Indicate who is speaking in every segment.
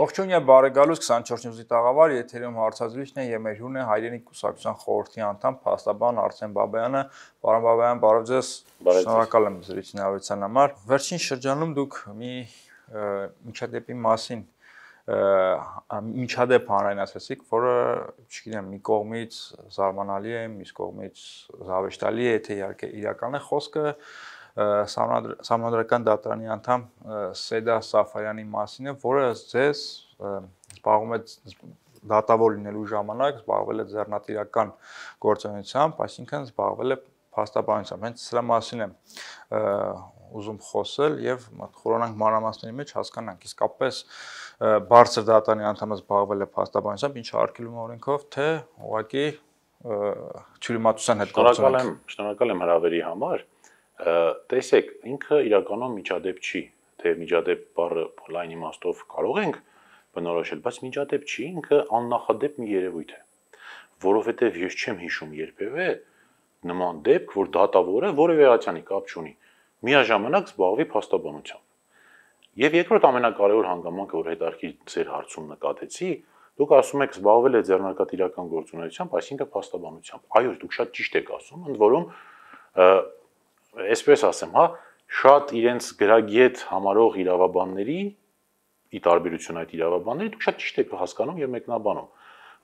Speaker 1: Ողջույն եւ բարեկալուց 24 նյուզի տաղավար, եթերում հարցազրույցն է եւ մեր հյուրն է Հայրենիք կուսակցության խորհրդի անդամ փաստաբան Արսեն Բաբայանը։ Պարոն Բաբայան, բարև ձեզ։ Շնորհակալ եմ զրույցին հավելության համար։ Վերջին շրջանում դուք մի միջադեպի մասին միջադեպ հանրայնացրեցիք, որը, չգիտեմ, մի կողմից զարմանալի է, մյուս կողմից զավեշտալի է, թե իհարկե իրական է խոսքը Սահմանադրական դատարանի անդամ Սեդա Սաֆարյանի մասին է, որը ձեզ զբաղվում է դատավոր լինելու ժամանակ զբաղվել է ձեռնատիրական գործունեությամբ, այսինքն զբաղվել է փաստաբանությամբ։ Հենց սրա մասին եմ ուզում խոսել եւ խորանանք մանրամասների մեջ հասկանանք իսկապես բարձր դատարանի անդամը զբաղվել է փաստաբանությամբ, ինչը արգելվում է օրենքով, թե ուղղակի թյուրիմացության հետ գործունեություն։
Speaker 2: Շնորհակալ եմ հրավերի համար։ Տեսեք, ինքը իրականում միջադեպ չի, թե միջադեպ բառը լայն իմաստով կարող ենք բնորոշել, բայց միջադեպ չի, ինքը աննախադեպ մի երևույթ է, որովհետև ես չեմ հիշում երբևէ նման դեպք, որ դատավորը որևէ ատյանի կապ չունի, միաժամանակ զբաղվի փաստաբանությամբ։ Եվ երկրորդ ամենակարևոր հանգամանքը, որ հետարքի ձեր հարցում նկատեցի, դուք ասում եք զբաղվել է ձեռնարկատիրական գործունեությամբ, այսինքն փաստաբանությամբ։ Այո, դուք շատ ճիշտ եք ասում, ընդ որում այսպես ասեմ, հա, շատ իրենց գրագետ համարող իրավաբանների, ի տարբերություն այդ իրավաբանների, դուք շատ ճիշտ եք հասկանում եւ մեկնաբանում,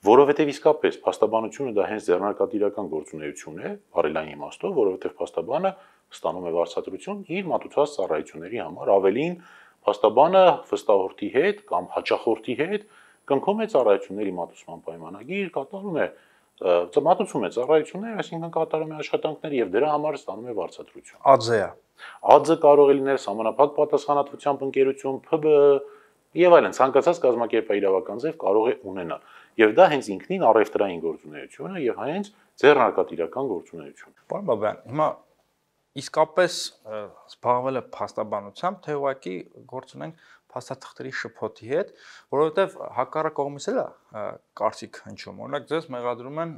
Speaker 2: որովհետեւ իսկապես փաստաբանությունը դա հենց ձեռնարկատիրական գործունեություն է, բարելային իմաստով, որովհետեւ փաստաբանը ստանում է վարձատրություն իր մատուցած ծառայությունների համար, ավելին փաստաբանը վստահորդի հետ կամ հաճախորդի հետ կնքում է ծառայությունների մատուցման պայմանագիր, կատարում է մատուցում է ծառայություններ, այսինքն կատարում է աշխատանքներ եւ դրա համար ստանում է վարձատրություն։
Speaker 1: ԱՁ-ը։
Speaker 2: ԱԶ կարող է լինել համանախագահ պատասխանատվությամբ ընկերություն, ՓԲ եւ այլն, ցանկացած կազմակերպային իրավական ձև կարող է ունենալ։ Եվ դա հենց ինքնին առևտրային գործունեություն է եւ հենց ձեռնարկատիրական գործունեություն։
Speaker 1: Պարոն Բաբայան, հիմա իսկապես զբաղվել է փաստաբանությամբ, թե ուղղակի գործ ունենք փաստաթղթերի շփոթի հետ, որովհետև հակառակ կողմից էլ է կարծիք հնչում։ Օրինակ ձեզ մեղադրում են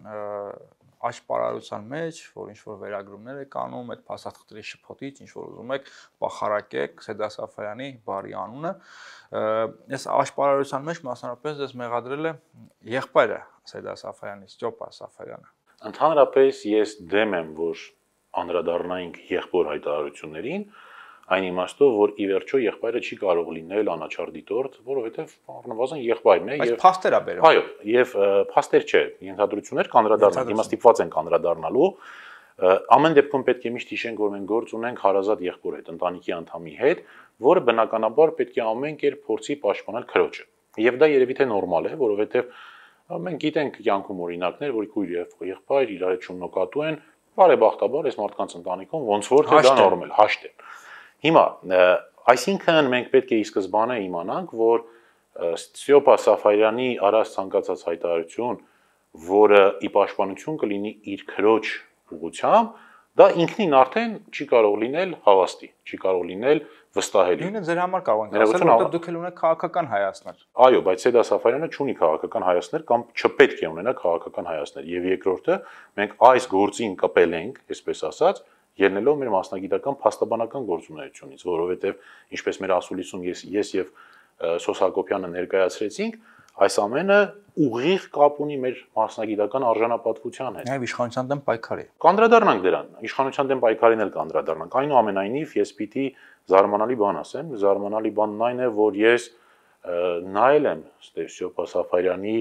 Speaker 1: աշպարարության մեջ, որ ինչ որ վերագրումներ եք անում այդ փաստաթղթերի շփոթից, ինչ որ ուզում եք փախարակեք Սեդա Սաֆարյանի բարի անունը։ Այս աշպարարության մեջ մասնավորապես ձեզ մեղադրել է եղբայրը Սեդա Սաֆարյանի, Ստյոպա Սաֆարյանը։
Speaker 2: Ընդհանրապես ես դեմ եմ, որ անդրադառնայինք եղբոր հայտարարություններին, այն իմաստով, որ ի վերջո եղբայրը չի կարող լինել անաչառ դիտորդ, որովհետև առնվազն եղբայրն է եւ
Speaker 1: փաստեր է բերում։
Speaker 2: Այո, եւ փաստեր չէ, ենթադրություններ կանդրադառնալ, հիմա ստիպված ենք անդրադառնալու։ Ամեն դեպքում պետք է միշտ հիշենք, որ մենք գործ ունենք հարազատ եղբոր հետ, ընտանիքի անդամի հետ, որը բնականաբար պետք է ամեն կերպ փորձի պաշտպանել քրոջը։ Եվ դա երևի թե նորմալ է, որովհետև մենք գիտենք կյանքում օրինակներ, որ քույր եւ եղբայր իրար հետ շնորհակատու են, բարեբախտաբար այս մարդկանց ընտանիքում ոնց որ թե դա նորմալ հաշտ է։ Հիմա, այսինքն մենք պետք է ի սկզբանե իմանանք, որ Ստյոպա Սաֆարյանի արած ցանկացած հայտարարություն, որը ի պաշտպանություն կլինի իր քրոջ ուղղությամբ, դա ինքնին արդեն չի կարող լինել հավաստի, չի կարող լինել վստահելի։
Speaker 1: Նույնը ձեր համար կարող ենք ասել, որովհետև դուք էլ ունեք քաղաքական հայացքներ։
Speaker 2: Այո, բայց Սեդա Սաֆարյանը չունի քաղաքական հայացքներ կամ չպետք է ունենա քաղաքական հայացքներ։ Եվ երկրորդը, մենք այս գործին կպել ենք, այսպես ասած, ելնելով մեր մասնագիտական փաստաբանական գործունեությունից, որովհետև ինչպես մեր ասուլիսում ես եւ Սոս Հակոբյանը ներկայացրեցինք, այս ամենը ուղիղ կապ ունի մեր մասնագիտական արժանապատվության հետ։
Speaker 1: Այո, իշխանության դեմ պայքարի։
Speaker 2: Կանդրադառնանք դրան, իշխանության դեմ պայքարին էլ կանդրադառնանք։ Այնուամենայնիվ ես պիտի զարմանալի բան ասեմ, զարմանալի բանն այն է, որ ես նայել եմ Ստյոպա Սաֆարյանի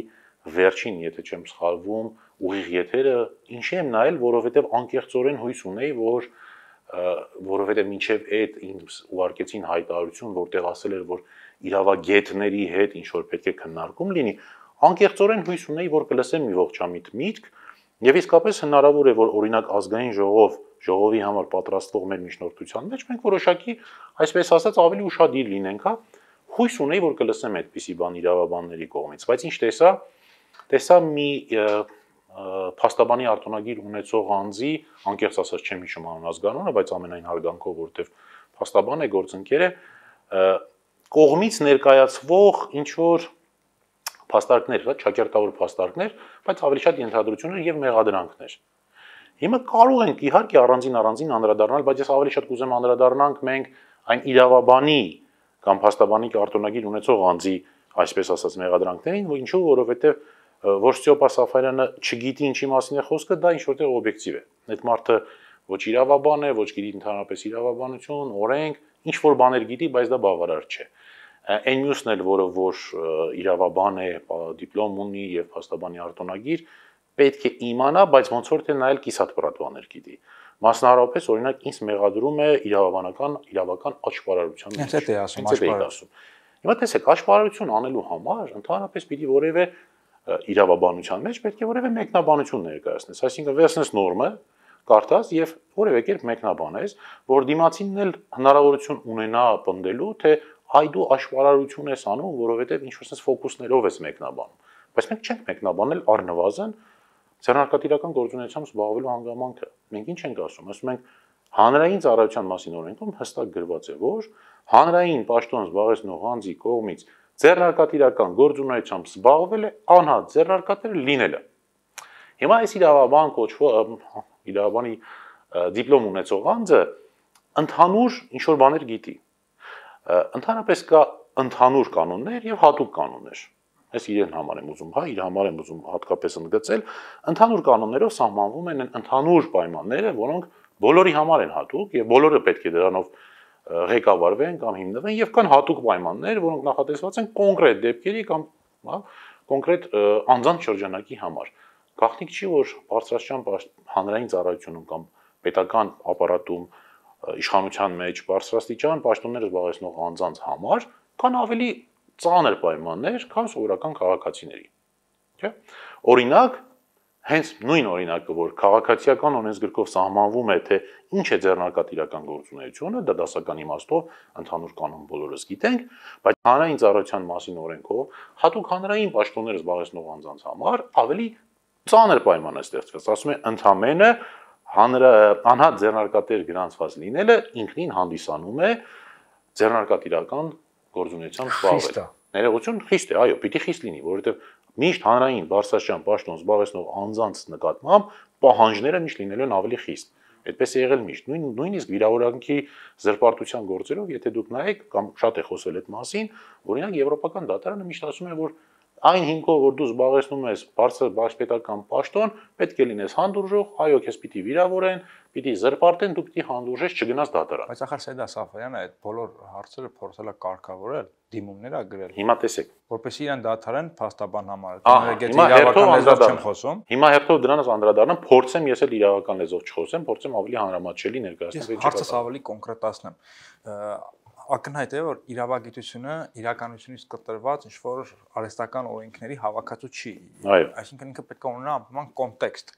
Speaker 2: վերջին, եթե չեմ սխալվում, ուղիղ եթերը, ինչի եմ նայել, որովհետև անկեղծորեն հույս ունեի, որ որովհետև մինչև այդ ինձ ուղարկեցին հայտարարություն, որտեղ ասել էր, որ իրավագետների հետ ինչ որ պետք է քննարկում լինի, անկեղծորեն հույս ունեի, որ կլսեմ մի ողջամիտ միտք, եւ իսկապես հնարավոր է, որ օրինակ ազգային ժողովի համար պատրաստվող մեր միջնորդության մեջ մենք որոշակի, այսպես ասած, ավելի ուշադիր լինենք, հա, հույս ունեի, որ կլսեմ այդպիսի բան իրավաբանների կողմից, բայց ինչ տեսա մի փաստաբանի արտոնագիր ունեցող անձի, անկեղծ ասած չեմ հիշում անուն ազգանունը, բայց ամենայն հարգանքով, որովհետև փաստաբան է, գործընկեր է, կողմից ներկայացվող ինչ որ փաստարկներ, հա, ճակերտավոր փաստարկներ, բայց ավելի շատ ենթադրություններ եւ մեղադրանքներ։ Հիմա կարող ենք իհարկե առանձին անդրադառնալ, բայց ես ավելի շատ կուզեմ անդրադառնանք մենք այն իրավաբանի կամ փաստաբանի արտոնագիր ունեցող անձի այսպես ասած մեղադրանքներին, ինչու որովհետև որ Ստեփա Սաֆարյանը չգիտի ինչի մասին է խոսքը, դա ինչ որտեղ օբյեկտիվ է։ Այդ մարդը ոչ իրավաբան է, ոչ գիտի ընդհանրապես իրավաբանություն, օրենք, ինչ որ բաներ գիտի, բայց դա բավարար չէ։ Այն մյուսն էլ, որը որ իրավաբան է, դիպլոմ ունի եւ փաստաբանի արտոնագիր, պետք է իմանա, բայց ոնց որ թե նայել կիսատ պրատվաներ գիտի։ Մասնավորապես, օրինակ, ինձ մեղադրում է իրավական աճպարարության մեջ։
Speaker 1: Հենց այդ է ասում,
Speaker 2: աճպարարություն։ Հիմա տեսեք, աճպարարություն անելու համար ընդհանրապես պիտի որևէ իրավաբանության մեջ պետք է որևէ մեկնաբանություն ներկայացնես, այսինքն վերցնես նորմը, կարդաս եւ որևէ կերպ մեկնաբանես, որ դիմացինն էլ հնարավորություն ունենա պնդելու, թե այ դու աշվարարություն ես անում, որովհետեւ ինչ-որ ֆոկուսներով ես մեկնաբանում։ Բայց մենք չենք մեկնաբանել առնվազն ձեռնարկատիրական գործունեությամբ զբաղվելու հանգամանքը։ Մենք ինչ ենք ասում, ասում ենք հանրային ծառայության մասին օրենքում հստակ գրված է, որ հանրային պաշտոն զբաղեցնող անձի կողմից ձեռնարկատիրական գործունեությամբ զբաղվել է անհատ ձեռնարկատեր լինելը։ Հիմա այս իրավաբան կոչվող իրավաբանի դիպլոմ ունեցող անձը ընդհանուր ինչ որ բաներ գիտի։ Ընդհանրապես կա ընդհանուր կանոններ եւ հատուկ կանոններ։ Ես իրեն համար եմ ուզում, իր համար եմ ուզում հատկապես ընդգծել, ընդհանուր կանոններով սահմանվում են ընդհանուր պայմանները, որոնք բոլորի համար են հատուկ եւ բոլորը պետք է դրանով ղեկավարվեն կամ հիմնվեն եւ կան հատուկ պայմաններ, որոնք նախատեսված են կոնկրետ դեպքերի կամ կոնկրետ անձանց շրջանակի համար։ Գաղտնիք չի, որ բարձրաստիճան հանրային ծառայությունում կամ պետական ապարատում իշխանության մեջ բարձրաստիճան պաշտոններ զբաղեցնող անձանց համար կան ավելի ծանր պայմաններ, քան սովորական քաղաքացիների։ Չէ՞։ Օրինակ, հենց նույն օրինակը, որ քաղաքացիական օրենսգրքով սահմանվում է, թե ինչ է ձեռնարկատիրական գործունեությունը, դա դասական իմաստով ընդհանուր կանոն բոլորս գիտենք, բայց հանրային ծառայության մասին օրենքով հատուկ հանրային պաշտոններ զբաղեցնող անձանց համար ավելի ծանր պայման է ստեղծված, ասում է ընդամենը անհատ ձեռնարկատեր գրանցված լինելը ինքնին հանդիսանում է ձեռնարկատիրական գործունեությամբ զբաղվել։ Ներողություն խիստ է, այո, պիտի խիստ լինի, որովհետև միշտ հանրային բարձրաստիճան պաշտոն զբաղեցնող անձանց նկատմամբ պահանջները միշտ լինելու են ավելի խիստ։ Այդպես է եղել միշտ։ Նույնիսկ վիրավորանքի զրպարտության գործերով, եթե դուք նայեք կամ շատ է խոսել այդ մասին, օրինակ եվրոպական դատարանը միշտ ասում է, որ այն հիմքով, որ դու զբաղեցնում ես բարձր բաշպետական պաշտոն, պետք է լինես հանդուրժող, այո, քեզ պիտի վիրավորեն, պիտի զրպարտեն, դու պիտի հանդուրժես, չգնաս դատարան։
Speaker 1: Բայց ախր Սեյդա Սաֆարյանը այդ բոլոր հարցերը փորձել է կարգավորել, դիմումներ ա գրել։
Speaker 2: Հիմա տեսեք,
Speaker 1: որպեսզի իրեն դադարեն փաստաբան համար։
Speaker 2: Հիմա իրավական
Speaker 1: լեզվով չեմ խոսում։
Speaker 2: Հիմա հերթով դրանից անդրադառնամ, փորձեմ ես էլ իրավական լեզվով չխոսեմ, փորձեմ ավելի հանրամատչելի ներկայացնել։
Speaker 1: Հարցս ավելի կոնկրետացնեմ։ Ակնհայտ է, որ իրավագիտությունը իրականությունից կտրված ինչ-որ արհեստական օրենքների հավաքածու չի։ Այսինքն ինքը պետք է ունենա անպայման կոնտեքստ։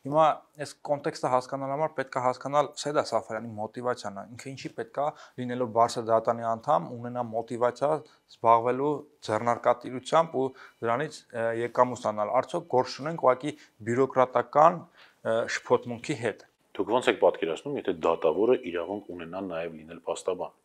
Speaker 1: Հիմա այս կոնտեքստը հասկանալու համար պետք է հասկանալ Սեյդա Սաֆարյանի մոտիվացիան, ինքը ինչի պետք է լինելով բարձր դատարանի անդամ ունենա մոտիվացիա զբաղվելու ձեռնարկատիրությամբ ու դրանից եկամ ստանալ։ Արդյոք գործ ունենք ուղղակի բյուրոկրատական շփոթմունքի հետ։
Speaker 2: Դուք ոնց եք պատկերացնում, եթե դատավորը իրավունք ունենա նաև լինել փաստաբան։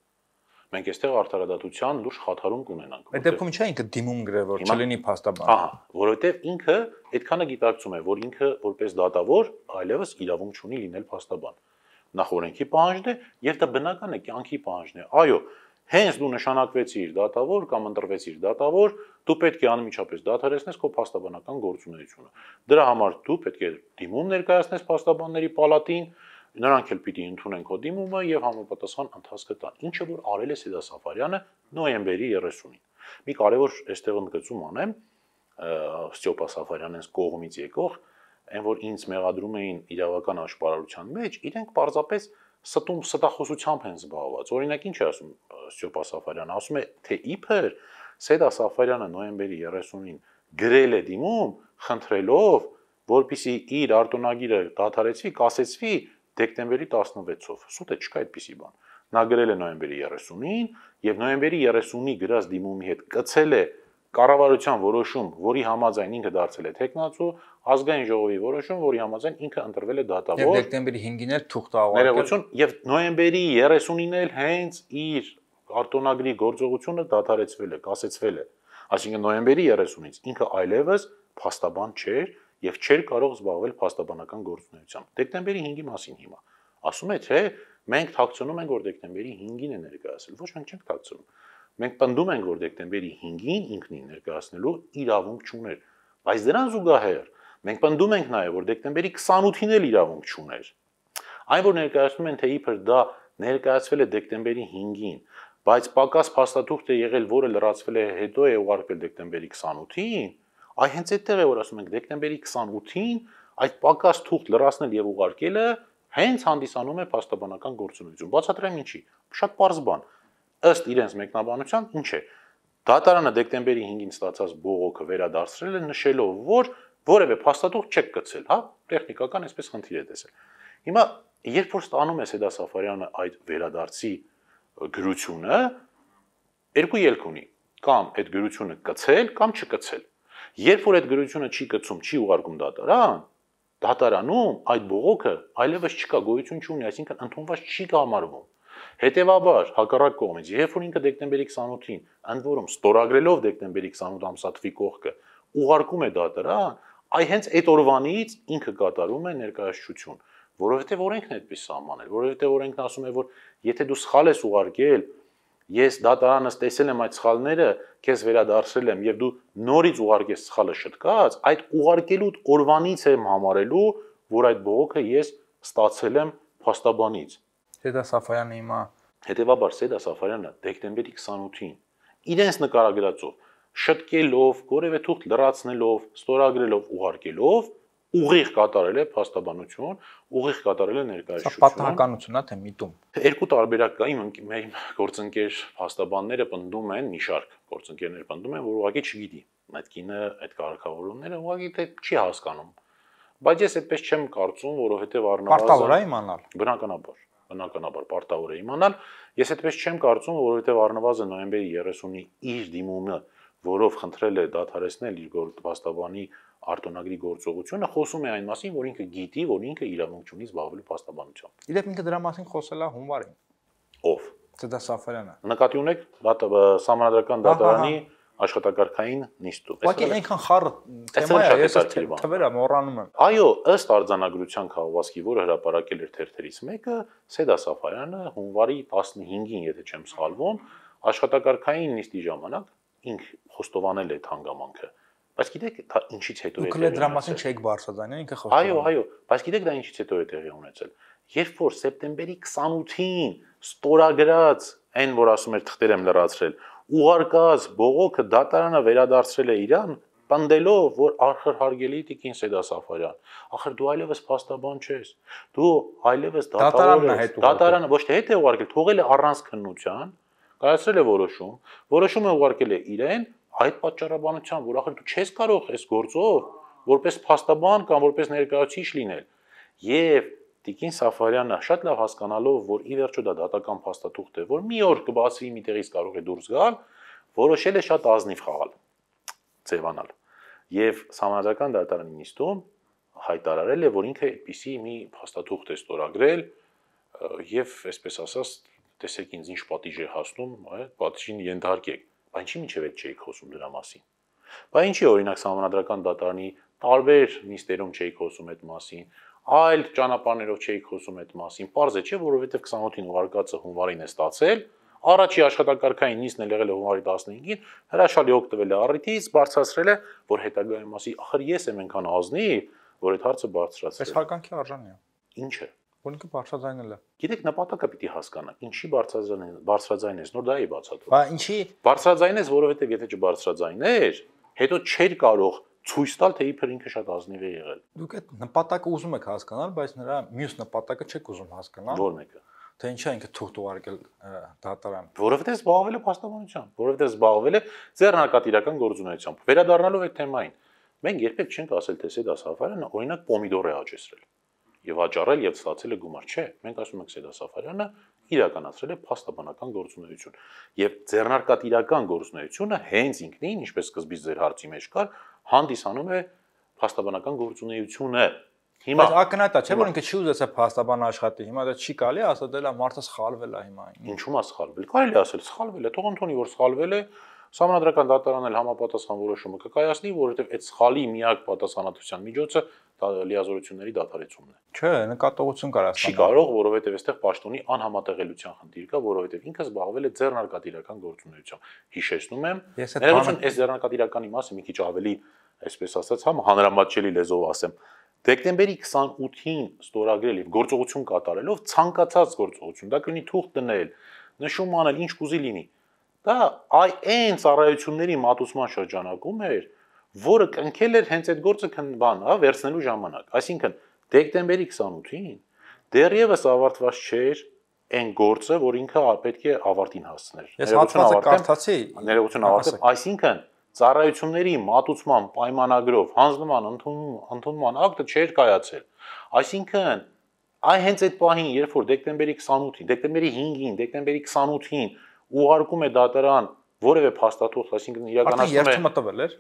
Speaker 2: Մենք այստեղ արդարադատության լուրջ խաթարում կունենանք։
Speaker 1: Այդ դեպքում ինչա ինքը դիմում գրել, որ չլինի փաստաբան։
Speaker 2: Ահա, որովհետև ինքը այդքանը գիտակցում է, որ ինքը որպես դատավոր այլևս իրավունք չունի լինել փաստաբան։ Նախ օրենքի պահանջն է, եւ դա բնական է, կյանքի պահանջն է։ Այո, հենց դու նշանակվեցիր դատավոր կամ ընտրվեցիր դատավոր, դու պետք է անմիջապես դադարեցնես քո փաստաբանական գործունեությունը։ Դրա համար դու պետք է դիմում ներկայացնես փաստաբանների պալատին, նրանք էլ պիտի ընդունեն քո դիմումը եւ համապատասխան ընթացքը տան։ Ինչը որ արել է Սեյդա Սաֆարյանը նոյեմբերի 30-ին։ Մի կարևոր այստեղ ընդգծում անեմ Ստեփա Սաֆարյանից կողմից եկող, այն որ ինձ մեղադրում էին իրավական աշպարարության մեջ, իրենք պարզապես ստախոսությամբ են զբաղված։ Օրինակ ինչ է ասում Ստեփա Սաֆարյանը, ասում է, թե իբր Սեյդա Սաֆարյանը նոյեմբերի 30-ին գրել է դիմում, խնդրելով, որպեսզի իր արտոնագիրը դադարեցվի, կասեցվի դեկտեմբերի 16-ով։ Սուտ է, չկա այդպիսի բան։ Նա գրել է նոյեմբերի 30-ին եւ նոյեմբերի 30-ի գրած դիմումի հետ կցել է կառավարության որոշում, որի համաձայն ինքը դարձել է տեխնացու, ազգային ժողովի որոշում, որի համաձայն ինքը ընտրվել է դատավոր։
Speaker 1: Եվ դեկտեմբերի 5-ին էլ թուղթ ավարտել։
Speaker 2: Ներողություն, եւ նոյեմբերի 30-ին էլ հենց իր արտոնագրի գործողությունը դադարեցվել է, կասեցվել է։ Այսինքն նոյեմբերի 30-ից ինքը այլևս փաստաբան չէր եւ չէր կարող զբաղվել փաստաբանական գործունեությամբ։ Դեկտեմբերի 5-ի մասին հիմա ասում է, թե մենք թաքցնում ենք, որ դեկտեմբերի 5-ին է ներկայացել։ Ոչ, մենք չենք թաքցնում։ մենք պնդում ենք, որ դեկտեմբերի 5-ին ինքնին ներկայացնելու իրավունք չուներ, բայց դրան զուգահեռ մենք պնդում ենք նաև, որ դեկտեմբերի 28-ին էլ իրավունք չուներ։ Այն որ ներկայացնում են, թե իբր դա ներկայացվել է դեկտեմբերի 5-ին, բայց պակաս փաստաթուղթ է եղել, որը լրացվել է հետո է ուղարկվել դեկտեմբերի 28-ին, այ հենց այդտեղ է որ ասում ենք դեկտեմբերի 28-ին այդ պակաս թուղթ լրացնել եւ ուղարկելը հենց հանդիսանում է փաստաբանական գործունեություն։ Բացատրեմ ինչի։ Շատ պարզ բան։ Ըստ իրենց մեկնաբանության, ինչ է։ Դատարանը դեկտեմբերի 5-ին ստացած բողոքը վերադարձրել է նշելով, որ որևէ փաստաթուղթ չեք գցել, հա, տեխնիկական այսպես խնդիր է տեսել։ Հիմա երբ որ ստանում է Սեդա Սաֆարյանը այդ վերադարձի գրությունը, երկու ելք ունի, կամ այդ գրությունը կցել, կամ չկցել։ Երբ որ այդ գրությունը չի կցում, չի ուղարկում դատարան, դատարանում այդ բողոքը այլևս չկա, գոյություն չունի, այսինքն ընդունված չի կհամարվում։ Հետևաբար, հակառակ կողմից, երբ որ ինքը դեկտեմբերի 28-ին, ընդ որում ստորագրելով դեկտեմբերի 28 ամսաթվի կողքը, ուղարկում է դատարան, այ հենց այդ օրվանից ինքը կատարում է ներկայացություն, որովհետև օրենքն է այդպես սահմանել, որովհետև օրենքն ասում է, որ եթե դու սխալ ես ուղարկել, ես դատարանս տեսել եմ այդ սխալները, քեզ վերադարձրել եմ եւ դու նորից ուղարկես սխալը շտկած, այդ ուղարկելու օրվանից եմ համարելու, որ այդ բողոքը ես ստացել եմ փաստաբանից։
Speaker 1: Սեդա Սաֆարյանը հիմա
Speaker 2: Հետևաբար Սեդա Սաֆարյանը դեկտեմբերի 28-ին իրենց նկարագրածով շտկելով, որևէ թուղթ լրացնելով, ստորագրելով, ուղարկելով ուղիղ կատարել է փաստաբանություն, ուղիղ կատարել է ներկայացություն։
Speaker 1: Սա պատահականություն է, թե միտում։
Speaker 2: Երկու տարբերակ կա, իմ գործընկեր փաստաբանները պնդում են, մի շարք գործընկերներ պնդում են, որ ուղղակի չգիտի այդ կինը այդ կարգավորումները ուղղակի թե չի հասկանում։ Բայց ես այդպես չեմ կարծում, որովհետև
Speaker 1: Պարտավոր է իմանալ։
Speaker 2: Բնականաբար պարտավոր է իմանալ։ Ես այդպես չեմ կարծում, որովհետև առնվազն նոյեմբերի 30-ի իր դիմումը, որով խնդրել է դադարեցնել իր փաստաբանի արտոնագրի գործողությունը, խոսում է այն մասին, որ ինքը գիտի, որ ինքը իրավունք ունի զբաղվելու փաստաբանությամբ։
Speaker 1: Իրենք ինքը դրա մասին խոսել է հունվարին։
Speaker 2: Ով։
Speaker 1: Սեդա Սաֆարյանը։
Speaker 2: Նկատի ունեք Սահմանադրական դատարանի աշխատակարգային նիստում։
Speaker 1: Ուղղակի այնքան խառը թեմա է, ես թվերը մոռանում եմ։
Speaker 2: Այո, ըստ արձանագրության քաղաքվազքի, որը հրապարակել էր թերթերից մեկը, Սեդա Սաֆարյանը հունվարի 15-ին, եթե չեմ սխալվում, աշխատակարգային նիստի ժամանակ ինք խոստովանել է հանգամանքը։ Բայց գիտեք, դա ինչից հետո է
Speaker 1: տեղի ունեցել։ Դուք դրա մասին չեք բարձրացնել, ինքը խոստովանել։
Speaker 2: Այո, բայց գիտեք դա ինչից հետո է տեղի ունեցել։ Երբ որ սեպտեմբերի 28-ին ստորագրած այն, որ ասում էր թղթեր եմ լրացրել, ուղարկած բողոքը դատարանը վերադարձրել է իրան, պնդելով, որ ախր հարգելի տիկին Սեդա Սաֆարյան, ախր դու այլևս փաստաբան չես։ Դու այլևս դատարանը ոչ թե հետ է ուղարկել, թողել է առանց քննության, կայացրել է որոշումը ուղարկել է իրեն այդ պատճառաբանությամբ, որ ախր դու չես կարող այս գործով որպես փաստաբան կամ որպես ներկայացուցիչ լինել։ Եվ տիկին Սաֆարյանը շատ լավ հասկանալով, որ ի վերջո դա դատական փաստաթուղթ է, որ մի օր կբացվի մի տեղից կարող է դուրս գալ, որոշել է շատ ազնիվ խաղալ, ձևանալ։ Եվ Սահմանադրական դատարանի նիստում հայտարարել է, որ ինքը այդպիսի մի փաստաթուղթ է ստորագրել եւ այսպես ասած, տեսեք ինձ ինչ պատիժ է հասնում, պատիժին ենթարկեք։ Բայց ինչի՞ միջև այդ չէիք խոսում դրա մասին։ Բայց ինչի օրինակ Սահմանադրական դատարանի տարբեր նիստերում չէիք խոսում այդ մասին, այլ ճանապարհներով չէիք խոսում այդ մասին։ Պարզ է, չէ, որովհետև 28-ին ուղարկածը հունվարին է ստացել, առաջի աշխատակարգային նիստն էլ եղել է հունվարի 15-ին, հրաշալի օգտվել է առիթից, բարձրացրել է, որ հետագայում ասի, ախր ես եմ այնքան ազնիվ, որ այդ հարցը բարձրացրել։
Speaker 1: Այս հարկանքի արժանի է։
Speaker 2: Ինչ է։
Speaker 1: Որ ինքը բարձրաձայնել է։
Speaker 2: Գիտեք, նպատակը պիտի հասկանա, ինչի բարձրաձայնես, նոր դա է բացատրում։
Speaker 1: Բա ինչի
Speaker 2: բարձրաձայնես, որովհետև եթե չբարձրաձայներ, հետո չէր կարող ցույց տալ, թե իբր ինքը շատ ազնիվ է եղել։
Speaker 1: Դուք այդ նպատակը ուզում եք հասկանալ, բայց նրա մյուս նպատակը չեք ուզում հասկանալ։
Speaker 2: Որ մեկը։
Speaker 1: Թե ինչա ինքը թուղթ ուղարկել դատարան։
Speaker 2: Որովհետև զբաղվել է փաստաբանությամբ, որովհետև զբաղվել է ձեռնարկատիրական գործունեությամբ։ Վերադառնալով այդ թեմային, մենք երբեք չենք ասել, թե Սեդա Սաֆարյանը օրինակ պոմիդոր է աճեցրել եւ աճառել եւ ստացել է գումար, չէ։ Մենք ասում ենք Սեդա Սաֆարյանը իրականացրել է փաստաբանական գործունեություն։ Եվ ձեռնարկատիրական գործունեությունը հենց ինքնին, ինչպես սկզբից ձեր հարցի մեջ կար, հանդիսանում է փաստաբանական գործունեությունը։ Հիմա
Speaker 1: ակնհայտ է, չէ՞ որ ինքը չի ուզեցել փաստաբան աշխատի։ Հիմա դա չի կարելի ասել, դե լա մարդը սխալվել է հիմա։
Speaker 2: Ինչու՞ է սխալվել։ Կարելի է ասել սխալվել է, թող ընդունի որ սխալվել է, Սահմանադրական դատարանն էլ համապատասխան որոշումը կկայացնի, որովհետև այդ սխալի միակ պատասխանատվության միջոցը լիազորությունների դադարեցումն է։
Speaker 1: Չէ, նկատողություն կար
Speaker 2: Չի կարող, որովհետև այստեղ պաշտոնի անհամատեղելիության խնդիր կա, որովհետև ինքը զբաղվել է ձեռնարկատիրական գործունեությամբ։ Հիշեցնում եմ, ներողություն, այս ձեռնարկատիրականի մասը մի քիչ ավելի, այսպես ասած, հանրամատչելի լեզվով ասեմ, դեկտեմբերի 28-ին ստորագրել եւ գործողություն կատարելով ցանկացած գործողություն, դա կլինի թուղթ դնել, նշում անել, ինչ կուզի լինի։ Դա այն ծառայությունների մատուցման շրջանակում էր, որը կնքել էր հենց այդ գործը վերցնելու ժամանակ։ Այսինքն դեկտեմբերի 28-ին դեռևս ավարտված չէր այն գործը, որ ինքը պետք է ավարտին հասցներ։
Speaker 1: Ես հատվածը կարդացի,
Speaker 2: ներողություն ավարտեմ, այսինքն ծառայությունների մատուցման պայմանագրով հանձնման ընդունման ակտը չէր կայացել։ Այսինքն հենց այդ պահին, երբ որ դեկտեմբերի 28-ին, դեկտեմբերի 5-ին, դեկտեմբերի 28-ին ուղարկում է դատարան որևէ փաստաթուղթ, այսինքն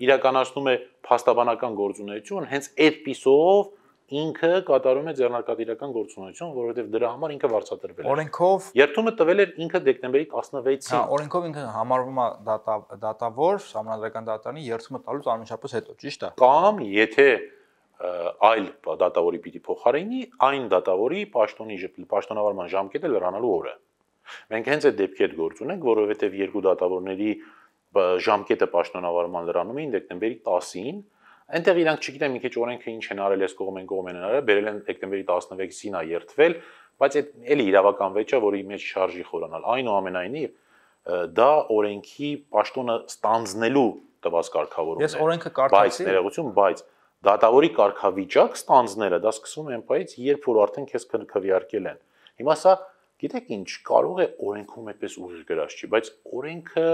Speaker 2: իրականացնում է փաստաբանական գործունեություն, հենց այդպիսով ինքը կատարում է ձեռնարկատիրական գործունեություն, որովհետև դրա համար ինքը վարձատրվել է։
Speaker 1: Օրենքով
Speaker 2: երթումը տվել էր ինքը դեկտեմբերի 16-ին։
Speaker 1: Հա, օրենքով ինքը համարվում է դատավոր, սահմանադրական դատարանի երթումը տալուց անմիջապես հետո, ճիշտ է։
Speaker 2: Կամ եթե այլ դատավորի պիտի փոխարինի, այն դատավորի պաշտոնավարման ժամկետը լրանալու օրը։ Մենք հենց այդ դեպքի հետ գործ ունենք, որովհետև երկու դատավորների ժամկետը պաշտոնավարման լրանում էին դեկտեմբերի 10-ին, այնտեղ իրանք չգիտեմ մի քիչ օրենքը ինչ են արել, այս կողմ են արել, բերել են դեկտեմբերի 16-ին է երթվել, բայց այդ էլի իրավական վեճ է, որի մեջ շարժի խորանալ։ Այնուամենայնիվ դա օրենքի պաշտոնը ստանձնելու տված կարգավորումն է։
Speaker 1: Ես օրենքը կարդացի,
Speaker 2: բայց դատավորի կարգավիճակ ստանձնելը դա սկսում է այնպես, երբ որ արդեն քեզ քվեարկել են։ Հիմա սա գիտեք ինչ, կարող է օրենքում այդպես ուժ գրած չի, բայց օրենքը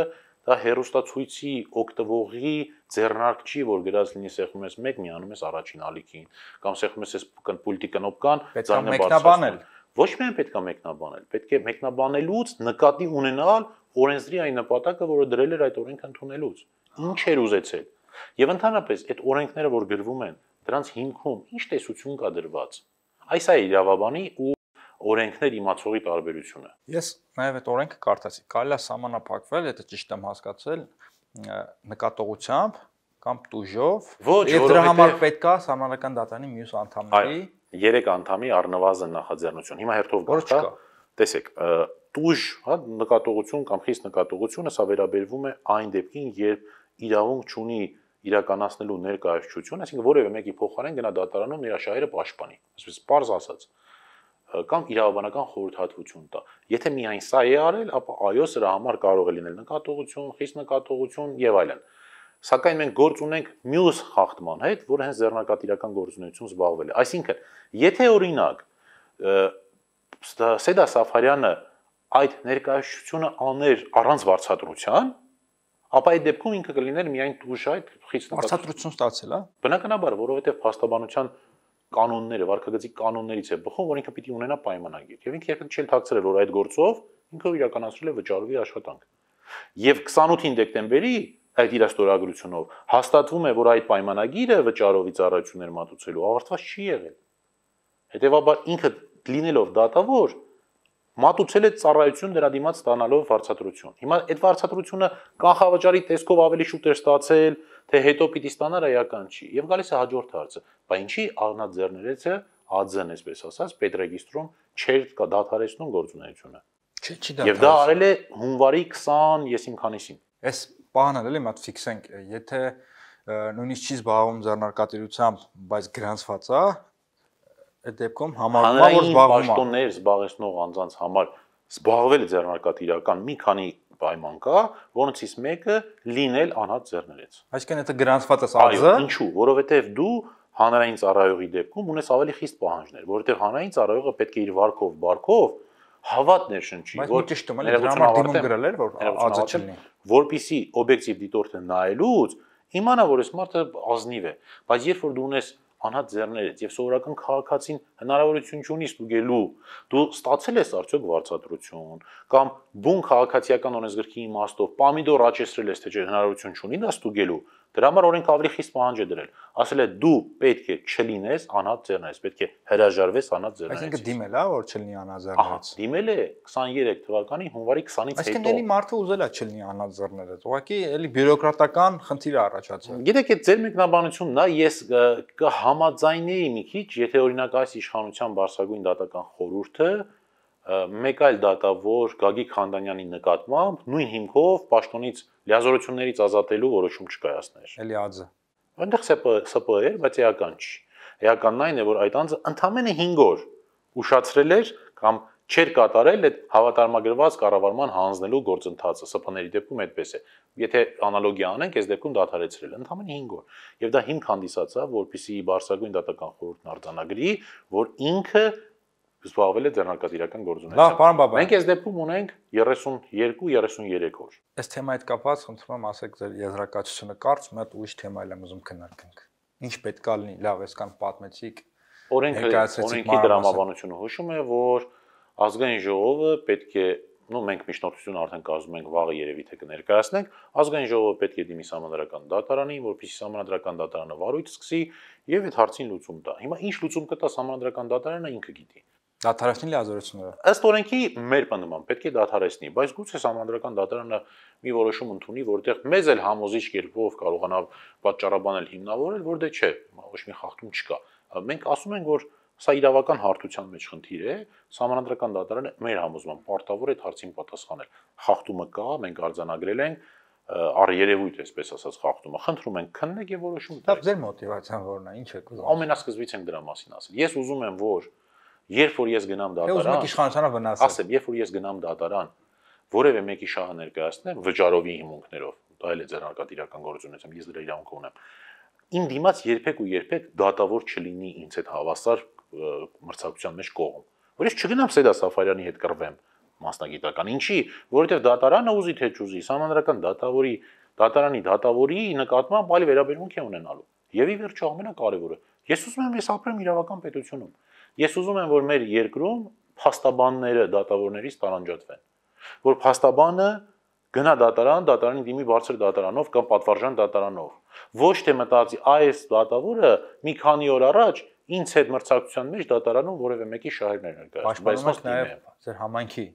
Speaker 2: դա հերոստացույցի օգտվողի ձեռնարկ չի, որ գրած լինի սեղմում ես 1, միանում ես առաջին ալիքին, կամ սեղմում ես պուլտի կնոպկան, ձայնը բարձրացնում։ Ոչ միայն պետք է մեկնաբանել, պետք է մեկնաբանելուց նկատի ունենալ օրենսդրի այն նպատակը, որը դրել էր այդ օրենքը ընդունելուց։ Ինչ էր ուզեցել։ Եվ ընդհանրապես այդ օրենքները, որ գրվում են, դրանց հիմքում ինչ տեսություն կա դրված։ Այս է իրավաբանի ու օրենքներ իմացողի տարբերությունը։
Speaker 1: Ես նաև այդ օրենքը կարդացի։ Կարելի է սահմանափակվել, եթե ճիշտ եմ հասկացել, նկատողությամբ կամ տուժով, եւ դրա համար պետք է սահմանադրական դատարանի մյուս անդամների
Speaker 2: 3 անդամի առնվազն նախաձեռնություն։ Հիմա հերթով գտա, տեսեք, տուժ, նկատողություն կամ խիստ նկատողությունը սա վերաբերվում է այն դեպքին, երբ իրավունք չունի իրականացնելու ներկայացություն, այսինքն որևէ մեկի փոխարեն գնա դատարանում նրա շահերը պաշտպանի, այսպես պարզ ասած, կամ իրավաբանական խորհրդատվություն տա։ Եթե միայն սա է արել, ապա այո, սրա համար կարող է լինել նկատողություն, խիստ նկատողություն եւ այլն։ Սակայն մենք գործ ունենք մյուս խախտման հետ, որը հենց ձեռնարկատիրական գործունեություն զբաղվել է։ Այսինքն, եթե օրինակ Սեդա Սաֆարյանը այդ ներկայացությունը աներ առանց վարձատրության, ապա այդ դեպքում ինքը կլիներ միայն տուժ այդ խիստ
Speaker 1: վարձատրություն ստացել, հա։
Speaker 2: Բնականաբար, որովհետև փաստաբանության կանոնները, վարքագծի կանոններից է բխում, որ ինքը պիտի ունենա պայմանագիր։ Եվ ինքը երբեք չի թաքցրել, որ այդ գործով ինքը իրականացրել է վճարովի աշխատանք։ Եվ 28 դեկտեմբերի այդ իր ստորագրությունով հաստատվում է, որ այդ պայմանագիրը վճարովի ծառայություններ մատուցելու ավարտված չի եղել։ Հետևաբար ինքը լինելով դատավոր մատուցել է ծառայություն դրա դիմաց ստանալով վարձատրություն։ Հիմա այդ վարձատրությունը կանխավճարի տեսքով ավելի շուտ էր ստացել, թե հետո պիտի ստանար այական չի։ Եվ գալիս է հաջորդ հարցը, բա ինչի ԱՂՆԱ-ձեռներեցը ԱՁ-ն, այսպես ասած, պետրեգիստրում չէր դադարեցնում գործունեությունը։
Speaker 1: Չի
Speaker 2: Եվ դա արել է հունվարի 20, եսիմ քանիսին։
Speaker 1: Այս բանը էլի մատ ֆիքսենք, եթե նույնիսկ չի զբաղվում ձեռնարկատիրությամբ, բայց գրանցված է, այդ դեպքում համարվում է, որ զբաղվում է։
Speaker 2: Պաշտոններ զբաղեցնող անձանց համար զբաղվել ձեռնարկատիրական մի քանի պայման կա, որոնցից մեկը լինել անհատ ձեռներեց։
Speaker 1: Այսինքն եթե գրանցված է ԱԶ,
Speaker 2: ինչու, որովհետև դու հանրային ծառայողի դեպքում ունես ավելի խիստ պահանջներ, որովհետև հանրային ծառայողը պետք է իր վարկով, բարկով հավատ ներշնչի,
Speaker 1: որ ճիշտ է, դրա համար դիմում գրել էր, որ ԱԶ չլինի,
Speaker 2: որպեսզի օբյեկտիվ դիտորդը նայելուց իմանա, որ այս մարդը ազնիվ է, բայց երբ որ դու ունես անհատ ձեռներից եւ սովորական քաղաքացին հնարավորություն չունի ստուգելու, դու ստացել ես արդյոք վարձատրություն կամ բուն քաղաքացիական օրենսգրքի իմաստով պամիդոր աճեցրել ես, թե չէ հնարավորություն չունի դա ստուգելու, Դրա համար օրենքը ավելի խիստ պահանջ է դրել։ Ասել է դու պետք է չլինես անհատ ձեռներից, պետք է հրաժարվես անհատ ձեռներից։
Speaker 1: Այսինքն դիմել է, որ չլինի անհատ ձեռներից։
Speaker 2: Դիմել է 23 թվականի հունվարի 20-ից հետո։
Speaker 1: Այսինքն էլի մարդը ուզել է չլինի անհատ ձեռները։ Ուղղակի էլի բյուրոկրատական խնդիր է առաջացել։
Speaker 2: Գիտեք, այդ ձեր մեկնաբանությունն է, ես կհամաձայնեի մի քիչ, եթե օրինակ այս իշխանության բարձրագույն դատական խորհուրդը մեկ այլ դատավոր Գագիկ Խանդանյանի նկատմամբ նույն հիմքով պաշտոնից լիազորություններից ազատելու որոշում չկայացներ։
Speaker 1: Էլի ԱԶ։
Speaker 2: Այնտեղ ՍՊ էր, բայց էական չի։ Էականն այն է, որ այդ անձը ընդամենը 5 օր ուշացրել էր կամ չէր կատարել այդ հավատարմագրված կառավարման հանձնելու գործընթացը, ՍՊ-ների դեպքում այդպես է։ Եթե անալոգիա անենք, այս դեպքում դադարեցրել ընդամենը 5 օր։ Եվ դա հիմք հանդիսացավ, որպեսզի բարձրագույն դատական խորհուրդն արձանագրի, որ ինքը զբաղվել է ձեռնարկատիրական գործունեությամբ։
Speaker 1: Լավ, պարոն Բաբայան։
Speaker 2: Մենք այս դեպքում ունենք 32-33 օր։
Speaker 1: Այս թեմայից կապված խնդրում եմ ասեք ձեր եզրակացությունը կարճ, մի հատ ուրիշ թեմա եմ ուզում քննարկենք։ Ինչ պետք է լինի, լավ, այսքան պատմեցիք։
Speaker 2: Օրենքի դրամաբանությունը հուշում է, որ ազգային ժողովը պետք է, մենք միջնորդությունը արդեն կազմում ենք, վաղը երևի թե կներկայացնենք, ազգային ժողովը պետք է դիմի սահմանադրական դատարանին, որպեսզի սահմանադրական դատարանը վարույթ սկսի եւ այդ հարցին լուծում տա։ Հիմա ինչ լուծում կտա սահմանադրական դատարանը ինքը գիտի։
Speaker 1: Դադարեցնի լիազորությունները։
Speaker 2: Ըստ օրենքի մեր պնդման պետք է դադարեցնի, բայց գուցե սահմանադրական դատարանը մի որոշում ընդունի, որտեղ մեզ էլ համոզիչ կերպով կարողանա պատճառաբանել հիմնավորել, որ դե չէ, ոչ մի խախտում չկա։ Մենք ասում ենք, որ սա իրավական հարթության մեջ խնդիր է, սահմանադրական դատարանը մեր համոզման պարտավոր է այդ հարցին պատասխանել։ Խախտումը կա, մենք արձանագրել ենք, առերևույթ այսպես ասած խախտումը։ Խնդրում ենք քննեք եւ որոշում
Speaker 1: տվեք։ Ձեր մոտիվացիան որն է, ինչ եք ուզում։
Speaker 2: Ամենասկզբից ենք դրա մասին ասել։ Ես ուզում եմ, որ երբ որ ես գնամ դատարան,
Speaker 1: ուզում եք իշխանությանը վնասել։
Speaker 2: Ասեմ, երբ որ ես գնամ դատարան, որևէ մեկի շահը ներկայացնեմ վճարովի հիմունքներով, դա էլ է ձեռնարկատիրական գործունեությամբ, ես դրա իրավունք ունեմ։ Իմ դիմաց երբեք ու երբեք դատավոր չլինի ինձ հետ հավասար մրցակցության մեջ կողմ։ Որ ես չգնամ Սեդա Սաֆարյանի հետ կռվեմ մասնագիտական։ Ինչի, որովհետև դատարանը ուզի թե չուզի, սահմանադրական դատարանի դատավորի նկատմամբ այլ վերաբերմունք է ունենալու։ Եվ ի վերջո ամենակարևորը, ես ուզում եմ ես ապրեմ իրավական պետությունում։ Ես ուզում եմ, որ մեր երկրում փաստաբանները դատավորներից տարանջատվեն, որ փաստաբանը գնա դատարան, դատարանի դիմի բարձր դատարանով կամ պատվարժան դատարանով, ոչ թե մտածի այս դատավորը մի քանի օր առաջ ինձ հետ մրցակցության մեջ դատարանում որևէ մեկի շահերներ ներկայացնում,
Speaker 1: բայց նաև ձեր համայնքի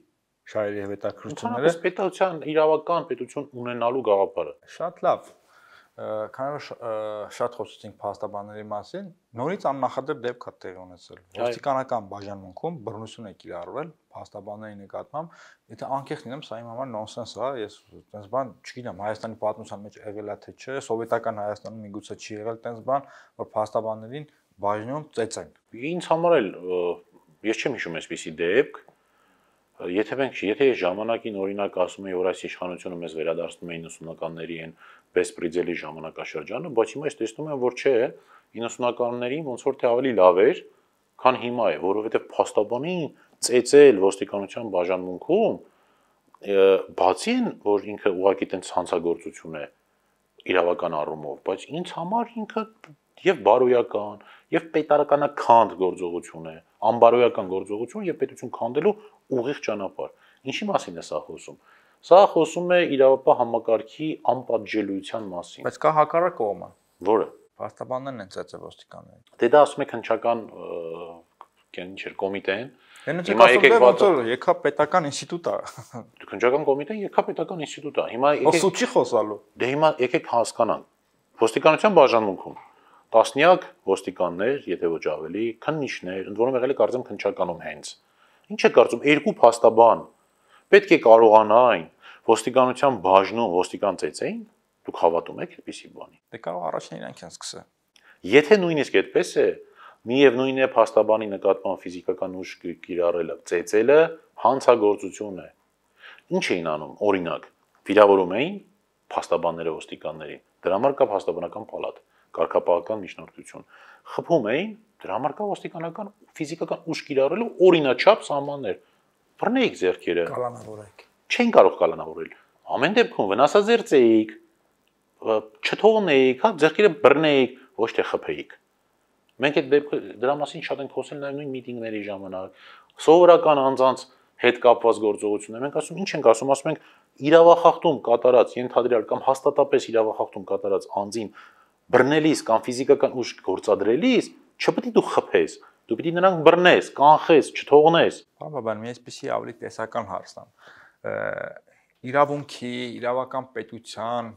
Speaker 1: շահերի եւ հետաքրքրությունները
Speaker 2: պետության իրավական պետություն ունենալու գաղափարը։
Speaker 1: Շատ լավ։ Քանի որ շատ խոսեցինք փաստաբանների մասին, նորից աննախադեպ դեպք է տեղի ունեցել։ Ոստիկանական բաժանմունքում բռնություն է կիրառվել փաստաբանների նկատմամբ, եթե անկեղծ լինեմ, սա իմ համար նոնսենս է, ես այդպես բան չգիտեմ, Հայաստանի պատմության մեջ եղել է թե չէ, սովետական Հայաստանում միգուցե չի եղել այդպես բան, որ փաստաբաններին բաժնում ծեծեն։
Speaker 2: Ինձ համար էլ ես չեմ հիշում այսպիսի դեպք, եթե ժամանակին օրինակ ասում էի, որ այս իշխանությունը մեզ վերադարձնում է 90-ականների այն Բեսպրիձելի ժամանակաշրջանը, բայց հիմա ես տեսնում եմ, որ չէ, 90-ականներին ոնց որ թե ավելի լավ էր, քան հիմա է, որովհետև փաստաբանին ծեծել ոստիկանության բաժանմունքում, բացի են, որ ինքը ուղղակի տենց հանցագործություն է իրավական առումով, բայց ինձ համար ինքը եւ բարոյական, եւ պետարականաքանդ գործողություն է, անբարոյական գործողություն եւ պետություն քանդելու ուղիղ ճանապարհ։ Ինչի մասին է սա խոսում։ Սա խոսում է իրավապահ համակարգի անպատժելիության մասին։
Speaker 1: Բայց կա հակառակ կողմը։
Speaker 2: Որը։
Speaker 1: Փաստաբաններն են ծեծել ոստիկաններին։
Speaker 2: Դե դա ասում է քննչական ինչ էր կոմիտեն։
Speaker 1: Հիմա եկա պետական ինստիտուտ է։
Speaker 2: Քննչական կոմիտեն եկա պետական ինստիտուտ է։ Հիմա
Speaker 1: եկեք Ոսու չի խոսալու։
Speaker 2: Դե հիմա եկեք հասկանանք։ Ոստիկանության բաժանմունքում տասնյակ ոստիկաններ, եթե ոչ ավելի, քննիչներ, ընդ որում եղել է կարծեմ քննչականում հենց։ Ինչ է կարծում, երկու փաստաբան պետք է կարողանային ոստիկանության բաժնում ոստիկան ծեծեին, դուք հավատում եք այդպիսի բանի։
Speaker 1: Դե կարող առաջին իրանք են սկսել։
Speaker 2: Եթե նույնիսկ այդպես է, միևնույն է փաստաբանի նկատմամբ ֆիզիկական ուժ կիրառելը, ծեծելը հանցագործություն է։ Ինչ էին անում, օրինակ, վիրավորում էին փաստաբանները ոստիկաններին, դրա համար կա փաստաբանական պալատ, կարգապահական միջնորդություն, խփում էին, դրա համար կա ոստիկանական ֆիզիկական ուժ կիրառելու օրինաչափ սահմաններ։ Բռնեիք ձեռքերը։
Speaker 1: Կալանավորեք։
Speaker 2: Չեն կարող կալանավորել։ Ամեն դեպքում վնասաձեռցեիք, չթողնեիք, հա, ձեռքերը բռնեիք, ոչ թե խփեիք։ Մենք այդ դեպքը դրա մասին շատ ենք խոսել նաև նույն միտինգների ժամանակ։ Սովորական անձանց հետ կապված գործողություն է։ Մենք ասում ինչ ենք ասում, ասում ենք իրավախախտում կատարած ենթադրյալ կամ հաստատապես իրավախախտում կատարած անձին բռնելիս կամ ֆիզիկական ուժ գործադրելիս չպետք է դու խփես, դու պիտի նրանք բռնես, կանխես, չթողնես։
Speaker 1: Բան, մի այսպեսի ավելի տեսական հարցն է։ Իրավունքի, իրավական պետության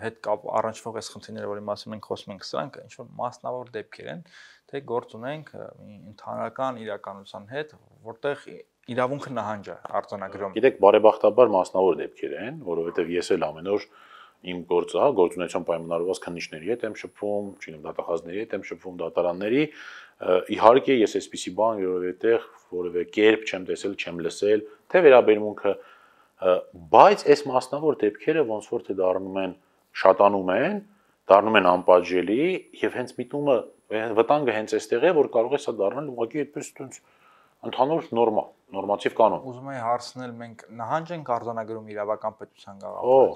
Speaker 1: հետ կապ առնչվող այս խնդիրները, որի մասին մենք խոսում ենք, սրանք ինչ որ մասնավոր դեպքեր են, թե գործ ունենք մի ընդհանրական իրականության հետ, որտեղ իրավունքը նահանջ է արձանագրում։
Speaker 2: Գիտեք, բարեբախտաբար մասնավոր դեպքեր են, որովհետև ես էլ ամեն օր իմ գործունեության պայմանավորված քննիչների հետ եմ շփվում, չինեմ դատախազների հետ եմ շփվում, դատարանների, իհարկե ես այսպիսի բան որևէ կերպ չեմ տեսել, չեմ լսել, թե վերաբերմունքը, բայց այս մասնավոր դեպքերը ոնց որ թե շատանում են, դառնում են անպատժելի եւ հենց միտումը վտանգը հենց այստեղ է, որ կարող է սա դառնալ ուղղակի այդպես ընդհանուր նորմա, նորմատիվ կանոն։
Speaker 1: Ուզում եմ հարցնել, մենք նահանջ ենք արձանագրում իրավական պետության գաղափարը։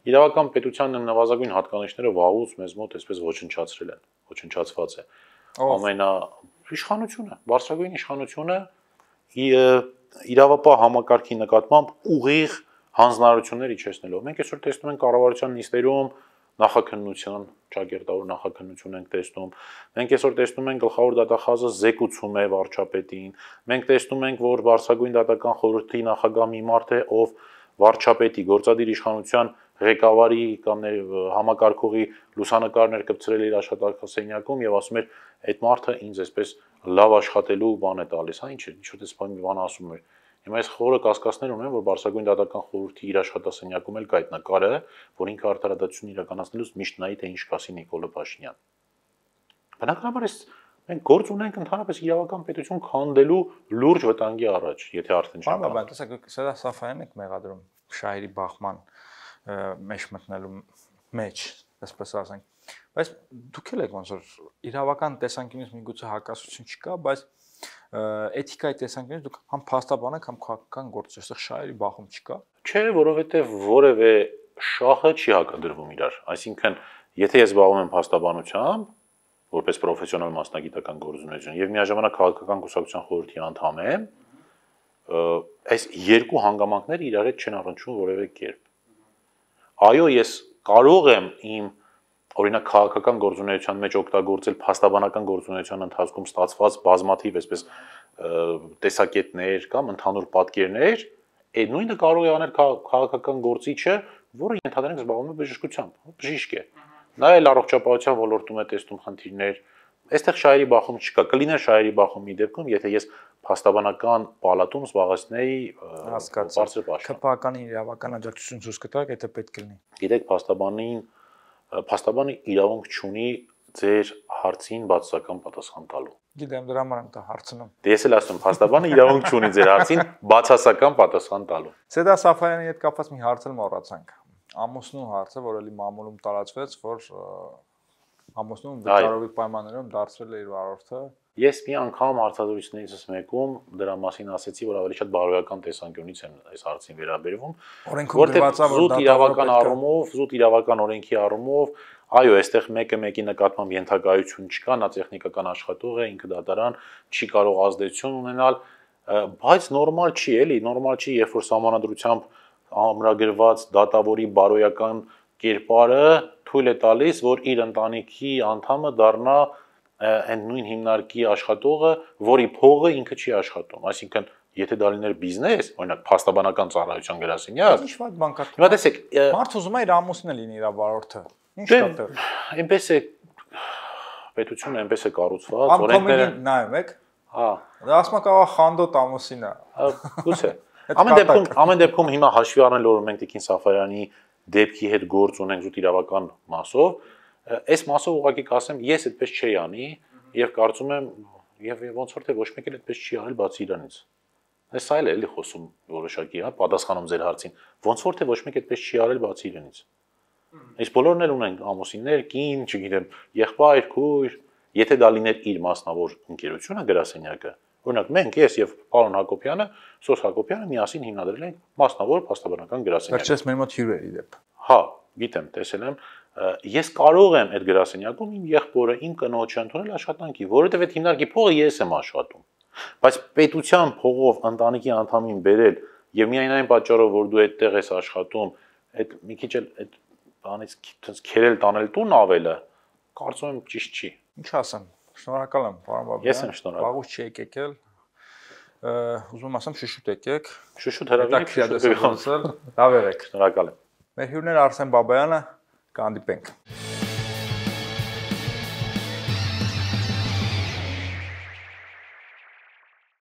Speaker 2: Իրավական պետության նվազագույն հատկանիշները վաղուց մեզ մոտ այսպես ոչնչացրել են, ոչնչացված է։ Իշխանությունը, բարձրագույն իշխանությունը իրավապահ համակարգի նկատմամբ ուղիղ հանձնարարություններ իջեցնելով։ Մենք այսօր տեսնում ենք կառավարության նիստերում նախաքննության, ճակերտավոր նախաքննություն ենք տեսնում։ Մենք այսօր տեսնում ենք գլխավոր դատախազը զեկուցում է վարչապետին։ Մենք տեսնում ենք, որ Բարձրագույն դատական խորհրդի նախագահ մի մարդ է, ով վարչապետի գործադիր իշխանության ղեկավարի կամ համակարգողի լուսանկարներ կպցրել իր աշխատակցասենյակում եւ ասում էր այդ մարդը ինձ այսպես լավ աշխատելու բան է տալիս, հա ինչ որ դեսպան մի բան ասում էր։ Հիմա այս խորը կասկածներ ունեմ, որ Բարձրագույն դատական խորհրդի իր աշխատասենյակում էլ կա այդ նկարը, որ ինքը արդարադատություն իրականացնելուց միշտ նայի թե ինչ կասի Նիկոլը Փաշինյան։ Բնականաբար մենք գործ ունենք ընդհանրապես իրավական պետություն քանդելու լուրջ վտանգի առաջ, եթե արդեն չենք։
Speaker 1: Բան, տեսեք, սա Սաֆայանն եք մեղադրում Շահերի բախման մեջ մտնելու մեջ, այսպես ասենք։ Բայց դուք էլ եք ոնց որ իրավական տեսանկյունից միգուցե հակասություն չկա, բայց էթիկայի տեսանկյունից դուք համ փաստաբան եք, համ քաղաքական գործ, այստեղ շահերի բախում չկա։
Speaker 2: Չէ, որովհետև որևէ շահը չի հակադրվում իրար։ Այսինքն, եթե ես զբաղվում եմ փաստաբանությամբ, որպես պրոֆեսիոնալ մասնագիտական գործունեություն եւ միաժամանակ քաղաքական կուսակցության խորհրդի անդամ եմ, այս երկու հանգամանքները իրար հետ չեն առնչվում որևէ կերպ։ Այո, ես կարող եմ իմ օրինակ քաղաքական գործունեության մեջ օգտագործել փաստաբանական գործունեության ընթացքում ստացված բազմաթիվ այսպես տեսակետներ կամ ընդհանուր պատկերներ, այդ նույնը կարող է անել քաղաքական գործիչը, որը ենթադրենք զբաղվում է բժշկությամբ, բժիշկ է։ Նա էլ առողջապահության ոլորտում է տեսնում խնդիրներ։ Այստեղ շահերի բախում չկա։ Կլիներ շահերի բախում մի դեպքում, եթե ես փաստաբանական պալատում զբաղեցնեի բարձր պաշտոն։
Speaker 1: ԿՊԱ-ական իրավական աջակցություն ցույց կտաք, եթե պետք լինի։
Speaker 2: Գիտեք, փաստաբանը իրավունք չունի ձեր հարցին բացասական պատասխան տալու։
Speaker 1: Գիտեմ, դրա համար եմ դա հարցնում։
Speaker 2: Ես էլ ասում, փաստաբանը իրավունք չունի ձեր հարցին բացասական պատասխան տալու։
Speaker 1: Սեդա Սաֆարյանի հետ կապված մի հարց էլ մոռացանք։ Ամուսնու հարցը, որ էլի մամուլում տարածվեց, որ ամուսնուն վճարովի պայմաններում դարձրել է իր վարորդը։
Speaker 2: Ես մի անգամ հարցազրույցներից մեկում դրա մասին ասացի, որ ավելի շատ բարոյական տեսանկյունից եմ այս հարցին վերաբերվում, որտեղ զուտ իրավական օրենքի առումով, այո, այստեղ մեկը մեկի նկատմամբ ենթակայություն չկա, նա տեխնիկական աշխատող է, ինքը դատարան չի կարող ազդեցություն ունենալ, բայց նորմալ չի, էլի, նորմալ չի, երբ որ սահմանադրությամբ ամրագրված դատավորի բարոյական կերպարը թույլ է տալիս, որ իր ընտանիքի անդամը դառնա այն նույն հիմնարկի աշխատողը, որի փողը ինքը չի աշխատում, այսինքն եթե դա լիներ բիզնես, օրինակ փաստաբանական ծառայության գրասենյակ,
Speaker 1: ինչ վատ բան կա։
Speaker 2: Հիմա տեսեք,
Speaker 1: մարդը ուզում է իր ամուսինը լինի իր վարորդը։ Ինչ կա դեռ։
Speaker 2: Այնպես է պետությունը այնպես է կառուցված, օրենքները
Speaker 1: նայում եք։
Speaker 2: Հա։
Speaker 1: Դա ասում է կարող խանդոտ ամուսինը։
Speaker 2: Գուցե։ Ամեն դեպքում հիմա հաշվի առնելով որ մենք Տիկին Սաֆարյանի դեպքի հետ գործ ունենք զուտ իրավական մասով, այս մասով ուղղակի կասեմ, ես այդպես չի անի եւ կարծում եմ եւ ոնց որ թե ոչ մեկ էլ այդպես չի արել բացի իրանից։ Այս այլ է էլի խոսում որոշակի, հա, պատասխանում ձեր հարցին։ Ոնց որ թե ոչ մեկ այդպես չի արել բացի իրանից։ Այս բոլորն էլ ունեն ամուսիններ, կին, չգիտեմ, եղբայր, քույր, եթե դա լիներ իր մասնավոր ընկերությունը գրասենյակը, օրինակ մենք ես եւ պարոն Հակոբյանը, Սոս Հակոբյանը միասին հիմնադրել ենք մասնավոր փաստաբանական գրասենյակ։
Speaker 1: Վերջերս մեր մոտ հյուր էր իդեպ։
Speaker 2: Հա, գիտեմ, տեսել եմ, ես կարող եմ այդ գրասենյակում իմ եղբորը, իմ կնոջը ընդունել աշխատանքի, որովհետեւ այդ հիմնարկի փողը ես եմ աշխատում։ Բայց պետության փողով ընտանիքի անդամին բերել եւ միայն այն պատճառով, որ դու այդտեղ ես աշխատում, այդ մի քիչ էլ այդ բանից ցած քերել տանել տուն ավելը, կարծում եմ ճիշտ չի։
Speaker 1: Ինչ ասեմ, շնորհակալ եմ, պարոն Բաբյան։
Speaker 2: Ես եմ շնորհակալ։
Speaker 1: Վաղուց չի եկել։ Ուզում ասեմ շուշուտ եկեք։
Speaker 2: Շուշուտ հրավիրեք,
Speaker 1: շուշուտ։ Լավ եղեք։
Speaker 2: Շնորհակալ եմ։
Speaker 1: Մեր հյուրն էր Արսեն Բաբայանը, կհանդիպենք։